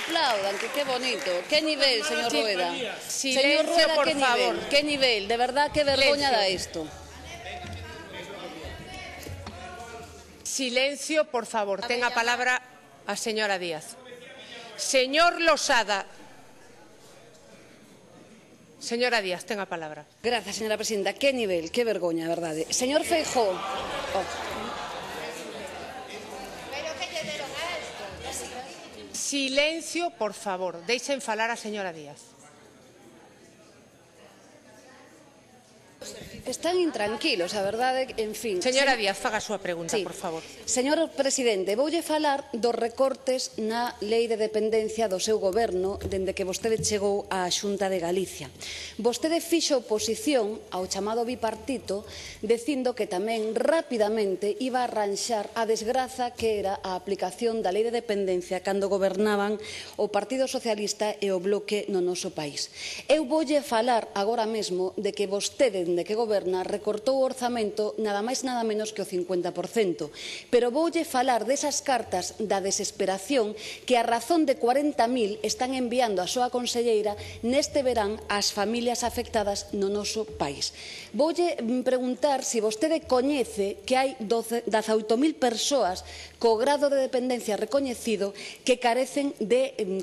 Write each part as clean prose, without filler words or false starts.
Aplaudan, que qué bonito. ¿Qué nivel, señor Rueda? Silencio, Señor Rueda, por ¿qué favor. nivel? ¿Qué nivel? De verdad, qué vergüenza da esto. Silencio, por favor. Tenga palabra a señora Díaz. Señor Losada. Señora Díaz, tenga palabra. Gracias, señora presidenta. Qué nivel, qué vergüenza, verdade. Señor Feijóo. Silencio, por favor. Deixen falar a señora Díaz. Están intranquilos, a verdade, en fin. Señora Díaz, faga a súa pregunta, sí. por favor. Señor presidente, voulle falar dos recortes na lei de dependencia do seu goberno dende que vostede chegou á Xunta de Galicia. Vostede fixo oposición ao chamado bipartito dicindo que tamén rapidamente iba a arranxar a desgraza que era a aplicación da lei de dependencia cando gobernaban o Partido Socialista e o Bloque no noso país. Eu voulle falar agora mesmo de que vostede, dende que goberna, recortou o orzamento nada máis nada menos que o 50%. Pero voulle falar desas cartas da desesperación que a razón de 40.000 están enviando a súa conselleira neste verán ás familias afectadas no noso país. Voulle preguntar se vostede coñece que hai 18.000 persoas co grado de dependencia recoñecido que carecen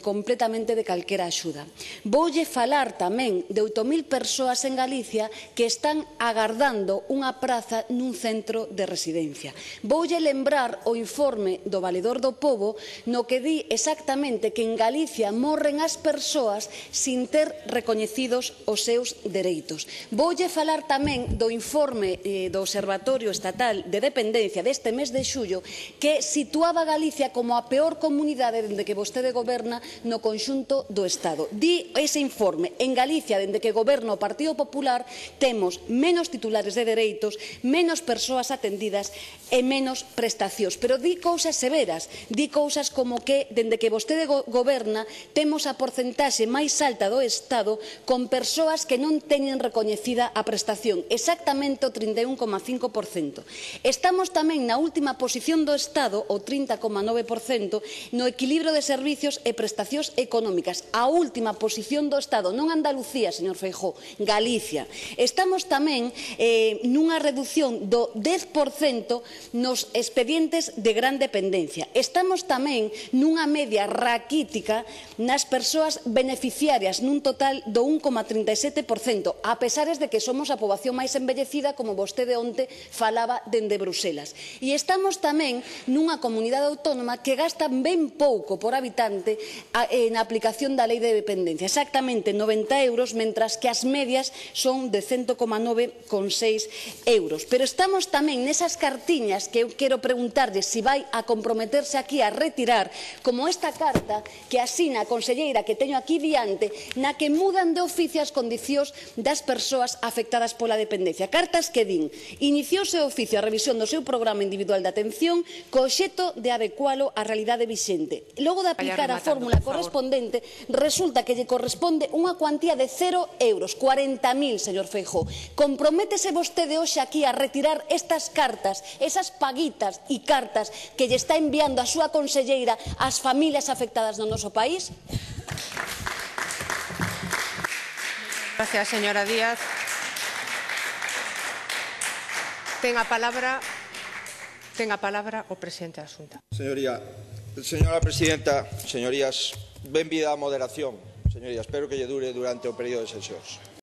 completamente de calquera axuda. Voulle falar tamén de 8.000 persoas en Galicia que están agardando unha praza nun centro de residencia. Voulle lembrar o informe do Valedor do Pobo no que di exactamente que en Galicia morren as persoas sin ter recoñecidos os seus dereitos. Voulle falar tamén do informe do Observatorio Estatal de Dependencia deste mes de xullo que situaba a Galicia como a peor comunidade dende que vostede goberna no conxunto do Estado. Di ese informe, en Galicia, dende que goberna o Partido Popular, temos menos titulares de dereitos, menos persoas atendidas e menos prestacións. Pero di cousas severas, di cousas como que, dende que vostede goberna, temos a porcentaxe máis alta do Estado con persoas que non teñen recoñecida a prestación, exactamente o 31,5%. Estamos tamén na última posición do Estado, o 30,9%, no equilibrio de servicios e prestacións económicas. A última posición do Estado, non Andalucía, señor Feijóo, Galicia. Estamos tamén nunha reducción do 10% nos expedientes de gran dependencia. Estamos tamén nunha media raquítica nas persoas beneficiarias nun total do 1,37%, a pesares de que somos a poboación máis envellecida, como vostede onte falaba dende Bruselas. E estamos tamén nunha comunidade autónoma que gasta ben pouco por habitante na aplicación da lei de dependencia, exactamente 90 euros, mentras que as medias son de 100,9,6 euros. Pero estamos tamén nesas cartiñas que eu quero preguntarlle se vai a comprometerse aquí a retirar, como esta carta que asina a conselleira que teño aquí diante, na que mudan de oficio as condicións das persoas afectadas pola dependencia. Cartas que din: iniciouse o oficio a revisión do seu programa individual de atención co obxecto de adecualo á realidade vixente. Logo de aplicar a fórmula correspondente, resulta que lle corresponde unha cuantía de 0 euros, 40.000, señor Feijóo. Comprométese vostede hoxe aquí a retirar estas cartas, esas paguitas e cartas que lle está enviando a súa conselleira ás familias afectadas no noso país? Gracias, señora Díaz. Tenga palabra o presidente da Xunta. Señora presidenta, señorías, benvida a moderación. Señorías, espero que lle dure durante o período de sesións.